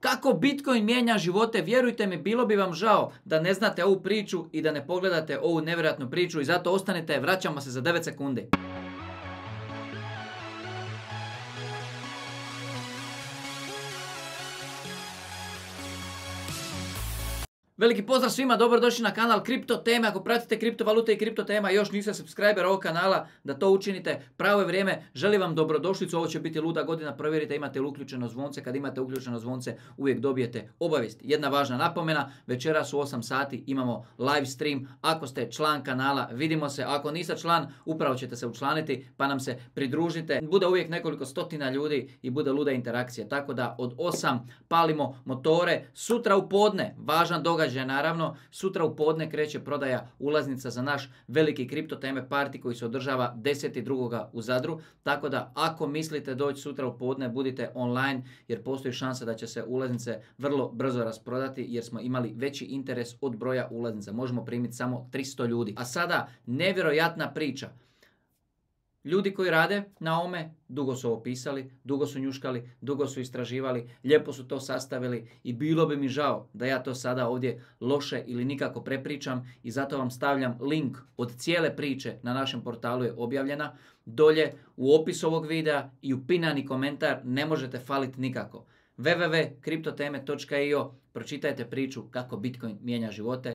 Kako Bitcoin mijenja živote, vjerujte mi, bilo bi vam žao da ne znate ovu priču i da ne pogledate ovu nevjerojatnu priču i zato ostanite, vraćamo se za 9 sekundi. Veliki pozdrav svima, dobrodošli na kanal Kripto Teme. Ako pratite kriptovalute i kripto tema, još niste subscriber ovog kanala, da to učinite. Pravo je vrijeme, želim vam dobrodošlicu, ovo će biti luda godina, provjerite imate li uključeno zvonce. Kad imate uključeno zvonce, uvijek dobijete obavijest. Jedna važna napomena, večeras u 8 sati imamo live stream. Ako ste član kanala, vidimo se. Ako niste član, upravo ćete se učlaniti, pa nam se pridružite. Bude uvijek nekoliko stotina ljudi i bude luda interakcija. Tako da od 8 palimo motore. Sutra u podne, važan događaj naravno, sutra u podne kreće prodaja ulaznica za naš veliki Kripto Teme party koji se održava 10.2. u Zadru. Tako da ako mislite doći sutra u podne, budite online jer postoji šansa da će se ulaznice vrlo brzo rasprodati jer smo imali veći interes od broja ulaznica. Možemo primiti samo 300 ljudi. A sada nevjerojatna priča. Ljudi koji rade na ovome, dugo su ovo pisali, dugo su njuškali, dugo su istraživali, lijepo su to sastavili i bilo bi mi žao da ja to sada ovdje loše ili nikako prepričam i zato vam stavljam link od cijele priče na našem portalu je objavljena. Dolje u opisu ovog videa i u pinani komentar ne možete faliti nikako. www.kriptoteme.io, pročitajte priču kako Bitcoin mijenja živote.